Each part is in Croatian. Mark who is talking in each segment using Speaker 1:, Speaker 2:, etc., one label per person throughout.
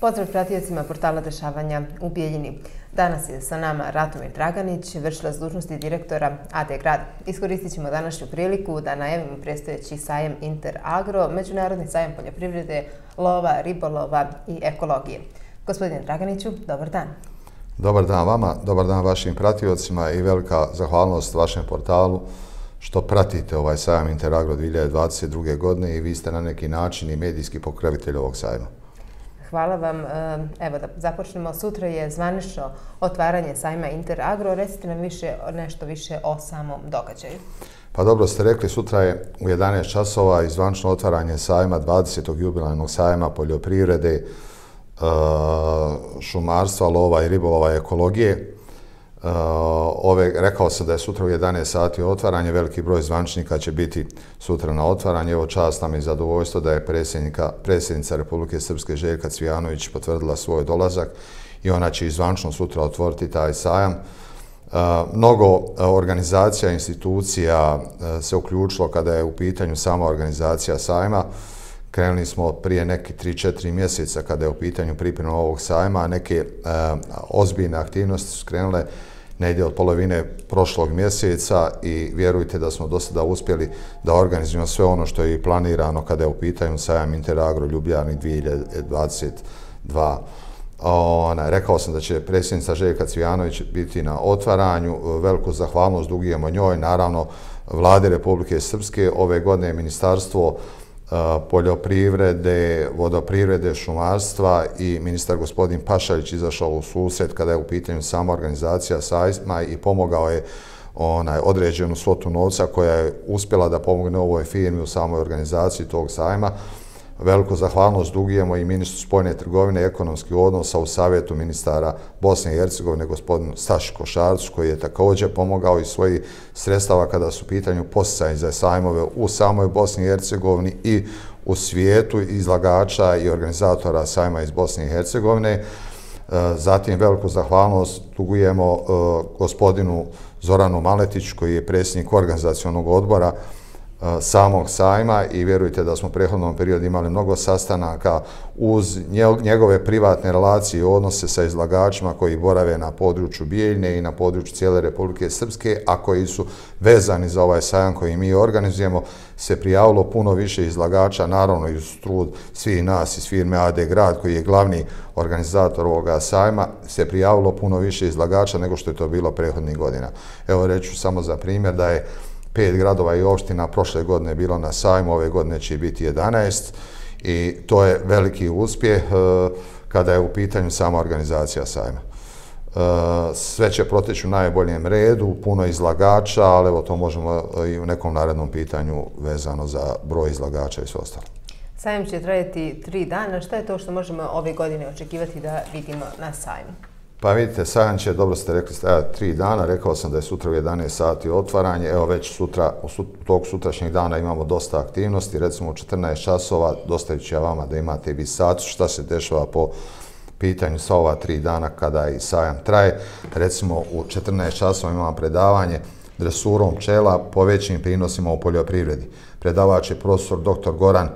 Speaker 1: Pozdrav pratiocima portala Dešavanja u Bijeljini. Danas je sa nama Ratomir Draganić, vršilac dužnosti direktora AD Grad. Iskoristit ćemo današnju priliku da najavimo predstojeći sajam Interagro, međunarodni sajam poljoprivrede, lova, ribolova i ekologije. Gospodine Draganiću, dobar dan.
Speaker 2: Dobar dan vama, dobar dan vašim pratiocima i velika zahvalnost vašem portalu što pratite ovaj sajam Interagro 2022. godine i vi ste na neki način i medijski pokrovitelj ovog sajma.
Speaker 1: Hvala vam. Evo da započnemo. Sutra je zvanično otvaranje sajma Interagro. Recite nam nešto više o samom događaju.
Speaker 2: Pa dobro ste rekli, sutra je u 11 časova i zvanično otvaranje sajma 20. jubilarnog sajma poljoprivrede, šumarstva, lova i ribolova i ekologije. Rekao sam da je sutra u 11 sati otvaranje, veliki broj zvaničnika će biti sutra na otvaranje. Evo čast nam je zadovoljstvo da je predsjednica Republike Srpske Željka Cvijanović potvrdila svoj dolazak i ona će i zvanično sutra otvoriti taj sajam. Mnogo organizacija, institucija se uključilo kada je u pitanju sama organizacija sajma. Krenuli smo prije neki 3-4 mjeseca kada je u pitanju priprema ovog sajma, a neke ozbiljne aktivnosti su krenule negdje od polovine prošlog mjeseca i vjerujte da smo do sada uspjeli da organizujemo sve ono što je i planirano kada je u pitanju sajam Interagro Ljubljani 2022. Rekao sam da će predsjednica Željka Cvijanović biti na otvaranju. Veliku zahvalnost dugujemo njoj, naravno Vladi Republike Srpske. Ove godine je Ministarstvo poljoprivrede, vodoprivrede, šumarstva i ministar gospodin Pašalić izašao u susret kada je u pitanju sama organizacija sajma i pomogao je određenu svotu novca koja je uspjela da pomogne ovoj firmi u samoj organizaciji tog sajma. Veliku zahvalnost dugujemo i ministru spoljne trgovine i ekonomskih odnosa u savjetu ministara Bosne i Hercegovine gospodinu Staši Košarcu koji je također pomogao iz svojih sredstava kada su u pitanju podsticaji za sajmove u samoj Bosni i Hercegovini i u svijetu izlagača i organizatora sajma iz Bosne i Hercegovine. Zatim veliku zahvalnost dugujemo gospodinu Zoranu Maletiću koji je predsjednik organizacionog odbora samog sajma i vjerujte da smo u prethodnom periodu imali mnogo sastanaka uz njegove privatne relacije i odnose sa izlagačima koji borave na području Bijeljine i na području cijele Republike Srpske, a koji su vezani za ovaj sajam koji mi organizujemo, se prijavilo puno više izlagača, naravno i uz trud svih nas iz firme AD Grad koji je glavni organizator ovoga sajma, se prijavilo puno više izlagača nego što je to bilo prethodnih godina. Evo reću samo za primjer da je 5 gradova i opština prošle godine bilo na sajmu, ove godine će biti 11 i to je veliki uspjeh kada je u pitanju sama organizacija sajma. Sve će proteći u najboljem redu, puno izlagača, ali evo to možemo i u nekom narednom pitanju vezano za broj izlagača i sve ostalo.
Speaker 1: Sajam će trajati 3 dana. Šta je to što možemo ove godine očekivati da vidimo na sajmu?
Speaker 2: Pa vidite, sajam će, dobro ste rekli, stajati 3 dana. Rekao sam da je sutra u 11 sati otvaranje. Evo već sutra, tog sutrašnjeg dana imamo dosta aktivnosti. Recimo u 14 časova, dostavit ću ja vama da imate vi sat šta se dešava po pitanju sva ova 3 dana kada i sajam traje. Recimo u 14 časova imamo predavanje dresurom pčela po većim prinosima u poljoprivredi. Predavač je profesor dr. Goran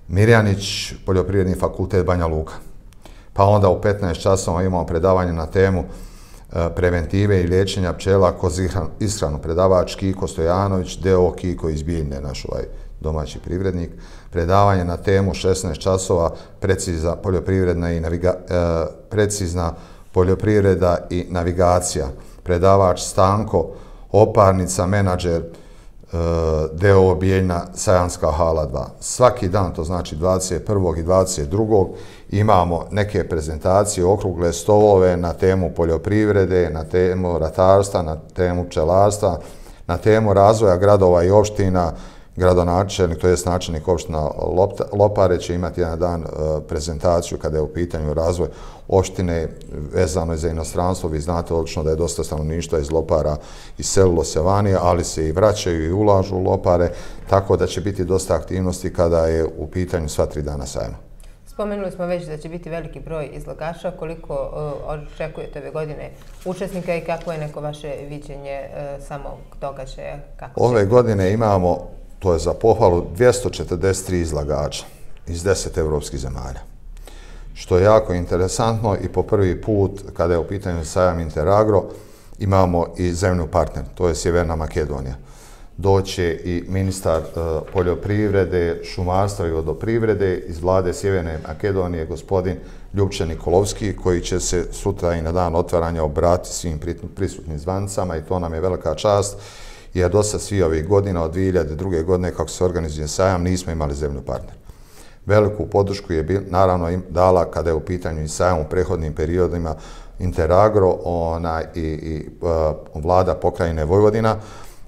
Speaker 2: Mirjanić, Poljoprivredni fakultet Banja Luka. Pa onda u 15 časova imamo predavanje na temu preventive i liječenja pčela kroz ishranu. Predavač Kiko Stojanović, D.O. Kiko iz Bijeljine, naš domaći privrednik. Predavanje na temu 16 časova precizna poljoprivreda i navigacija. Predavač Stanko Oparnica, menadžer D.O. Bijeljina, Sajanska hala 2. Svaki dan, to znači 21. i 22. imamo neke prezentacije, okrugle stolove na temu poljoprivrede, na temu ratarstva, na temu pčelarstva, na temu razvoja gradova i opština. Gradonačelnik, to jest načelnik opština Lopare će imati jedan dan prezentaciju kada je u pitanju razvoj opštine vezano za inostranstvo. Vi znate odlično da je dosta stanovništva iz Lopara iselilo se vani, ali se i vraćaju i ulažu u Lopare, tako da će biti dosta aktivnosti kada je u pitanju sva 3 dana sajma.
Speaker 1: Spomenuli smo već da će biti veliki broj izlagača. Koliko očekujete ove godine učesnika i kako je neko vaše viđenje samog događaja?
Speaker 2: Ove godine imamo to je za pohvalu, 243 izlagača iz 10 evropskih zemalja. Što je jako interesantno i po prvi put, kada je u pitanju sajam Interagro, imamo i zemlju partner, to je Sjeverna Makedonija. Doće i ministar poljoprivrede, šumarstva i vodoprivrede iz vlade Sjeverne Makedonije, gospodin Ljupče Nikolovski, koji će se sutra i na dan otvaranja obratiti svim prisutnim zvancama i to nam je velika čast, jer do sad svi ovih godina, od 2002. godine kako se organizuje sajam, nismo imali zemlju partner. Veliku podršku je naravno dala kada je u pitanju i sajam u prethodnim periodima Interagro i vlada pokrajine Vojvodina.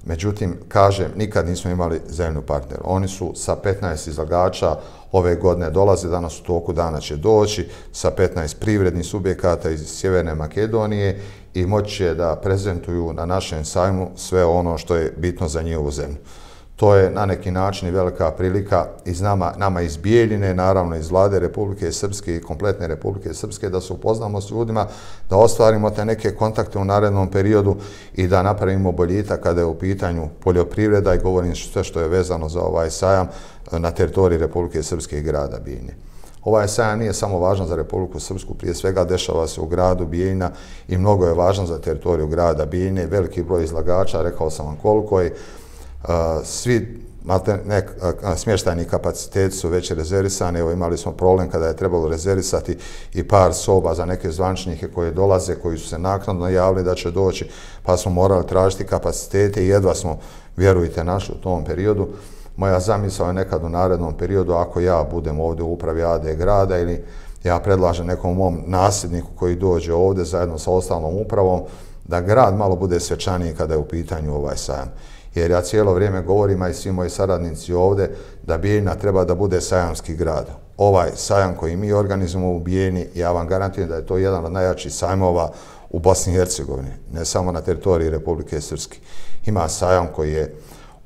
Speaker 2: Međutim, kažem, nikad nismo imali zemlju partner. Oni su sa 15 izlagača ove godine dolaze, danas u toku dana će doći, sa 15 privrednih subjekata iz Sjeverne Makedonije i moći će da prezentuju na našem sajmu sve ono što je bitno za njihovu zemlju. To je na neki način i velika prilika iz nama iz Bijeljine, naravno iz vlade Republike Srpske i kompletne Republike Srpske, da se upoznamo s ljudima, da ostvarimo te neke kontakte u narednom periodu i da napravimo boljitak kada je u pitanju poljoprivreda i govorim sve što je vezano za ovaj sajam na teritoriji Republike Srpske i grada Bijeljine. Ovaj sajam nije samo važan za Republiku Srpsku, prije svega dešava se u gradu Bijeljina i mnogo je važan za teritoriju grada Bijeljine, veliki broj izlagača, rekao sam vam koliko je. Svi smještajni kapaciteti su već rezervisani. Evo, imali smo problem kada je trebalo rezervisati i par soba za neke zvančnike koji dolaze, koji su se naknadno javili da će doći, pa smo morali tražiti kapacitete i jedva smo, vjerujte, našli u tom periodu. Moja zamisao je nekad u narednom periodu, ako ja budem ovdje u upravi AD grada ili ja predlažem nekom mom nasljedniku koji dođe ovdje zajedno sa ostalom upravom, da grad malo bude svečaniji kada je u pitanju ovaj sajam. Jer ja cijelo vrijeme govorim, a i svi moji saradnici ovdje, da Bijeljina treba da bude sajamski grad. Ovaj sajam koji mi organizujemo u Bijeljini, ja vam garantujem da je to jedan od najjačih sajmova u Bosni i Hercegovini, ne samo na teritoriji Republike Srpske. Ima sajam koji je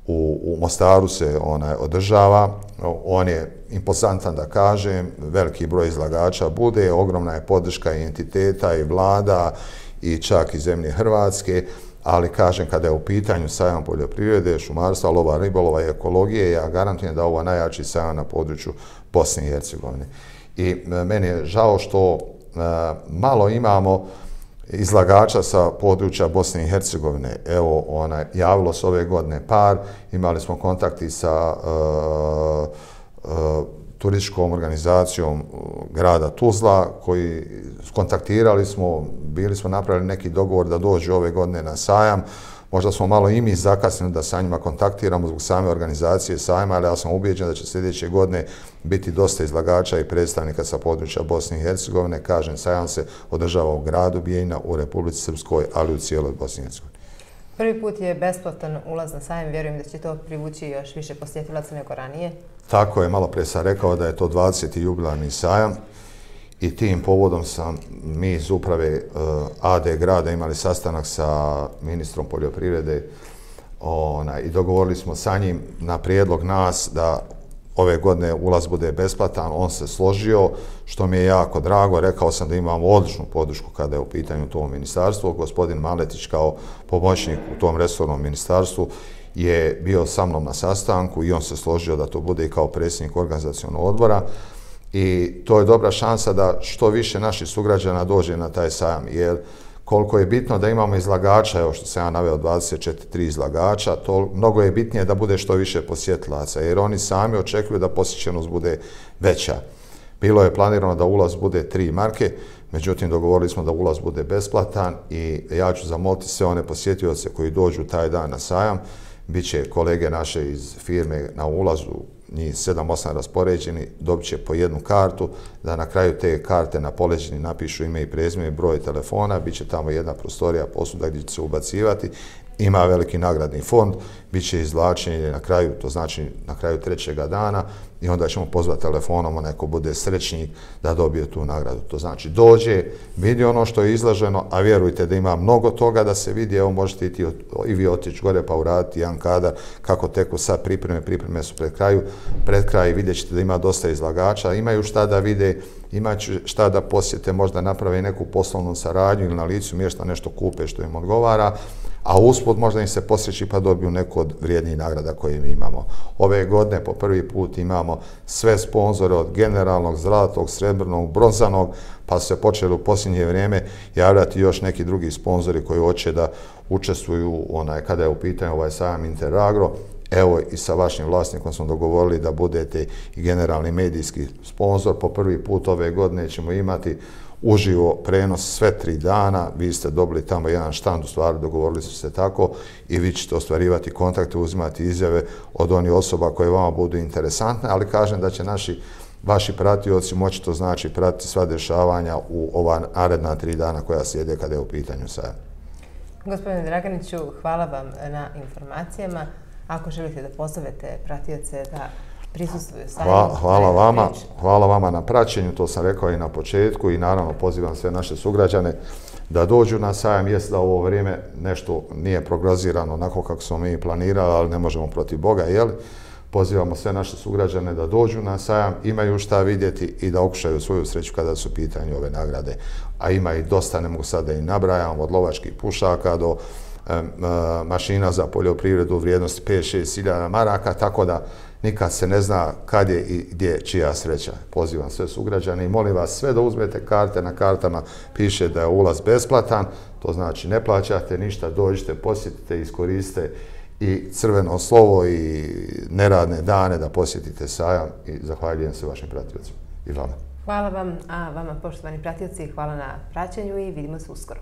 Speaker 2: u Mostaru se održava, on je impozantan da kažem, veliki broj izlagača bude, ogromna je podrška i entiteta i vlada i čak i zemlje Hrvatske, ali kažem, kada je u pitanju sajam poljoprivrede, šumarstva, lova, ribolova i ekologije, ja garantujem da je ovo najjači sajam na području Bosne i Hercegovine. I meni je žao što malo imamo izlagača sa područja Bosne i Hercegovine. Evo, javilo se ove godine par, imali smo kontakti sa turističkom organizacijom grada Tuzla, koji kontaktirali smo, bili smo napravili neki dogovor da dođu ove godine na sajam. Možda smo malo i mi zakasnili da sa njima kontaktiramo zbog same organizacije sajma, ali ja sam ubijeđen da će sljedeće godine biti dosta izlagača i predstavnika sa područja Bosne i Hercegovine. Kažem, sajam se održava u gradu Bijeljina, u Republici Srpskoj, ali u cijeloj Bosni i Hercegovini.
Speaker 1: Prvi put je besplatan ulaz na sajam, vjerujem da će to privući još više posjetilaca nego ranije.
Speaker 2: Tako je, malo pre sam rekao da je to 20. jubilarni sajam i tim povodom mi iz uprave AD grada imali sastanak sa ministrom poljoprivrede i dogovorili smo sa njim na prijedlog nas da ove godine ulaz bude besplatan. On se složio, što mi je jako drago. Rekao sam da imamo odličnu podršku kada je u pitanju to ministarstvo. Gospodin Maletić kao pomoćnik u tom resornom ministarstvu je bio sa mnom na sastanku i on se složio da to bude i kao predsjednik organizacionog odbora. I to je dobra šansa da što više naših sugrađana dođe na taj sajam, jer koliko je bitno da imamo izlagača, evo što sam ja naveo 24 izlagača, to mnogo je bitnije da bude što više posjetilaca, jer oni sami očekuju da posjećenost bude veća. Bilo je planirano da ulaz bude 3 marke, međutim dogovorili smo da ulaz bude besplatan i ja ću zamoliti sve one posjetioce koji dođu taj dan na sajam. Biće kolege naše iz firme na ulazu, njih 7-8 raspoređeni, dobit će po jednu kartu, da na kraju te karte na poleđini napišu ime i prezime i broj telefona, bit će tamo jedna prostorija posuda gdje će se ubacivati, ima veliki nagradni fond, bit će izvlačenje na kraju, to znači na kraju 3. dana i onda ćemo pozvati telefonom onaj ko bude srećnik da dobije tu nagradu. To znači dođe, vidi ono što je izloženo, a vjerujte da ima mnogo toga da se vidi, evo možete i vi otići gore pa uraditi jedan kadar kako teku sad pripreme su pred kraj vidjet ćete da ima dosta izlagača, imaju šta da vide, imaju šta da posjete, možda naprave neku poslovnu saradnju ili na licu mjesta nešto kupe što im odgovara. a usput možda im se posreći pa dobiju neku od vrijednijih nagrada koje mi imamo. Ove godine po prvi put imamo sve sponzore od generalnog, zlatog, srebrnog, bronzanog, pa su se počeli u posljednje vrijeme javljati još neki drugi sponzori koji hoće da učestvuju kada je u pitanju ovaj sajam Interagro. Evo i sa vašim vlasnikom smo dogovorili da budete i generalni medijski sponzor. Po prvi put ove godine ćemo imati uživo prenos sve 3 dana. Vi ste dobili tamo jedan štand, u stvari dogovorili su se tako, i vi ćete ostvarivati kontakte, uzimati izjave od onih osoba koje vama budu interesantne, ali kažem da će vaši pratioci moći, to znači pratiti sva dešavanja u ova naredna 3 dana koja slijede kada je u pitanju sajam.
Speaker 1: Gospodine Draganiću, hvala vam na informacijama. Ako želite da pozovete pratioce da prisustvuju sajmu.
Speaker 2: Hvala vama na praćenju, to sam rekao i na početku, i naravno pozivam sve naše sugrađane da dođu na sajam. Jest da u ovo vrijeme nešto nije prognozirano onako kako smo mi planirali, ali ne možemo protiv Boga, jel? Pozivamo sve naše sugrađane da dođu na sajam, imaju šta vidjeti i da okušaju svoju sreću kada su u pitanju ove nagrade. A ima i dosta, ne mogu sad da i nabrajam, od lovačkih pušaka do mašina za poljoprivredu u vrijednosti 5-6 hiljada maraka, tako da nikad se ne zna kad je i gdje čija sreća. Pozivam sve sugrađane i molim vas sve da uzmete karte. Na kartama piše da je ulaz besplatan, to znači ne plaćate ništa, dođite, posjetite, iskoristite i crveno slovo i neradne dane da posjetite sajam, i zahvaljujem se vašim pratiocima i vama.
Speaker 1: Hvala vam, a vama poštovani pratioci hvala na praćenju i vidimo se uskoro.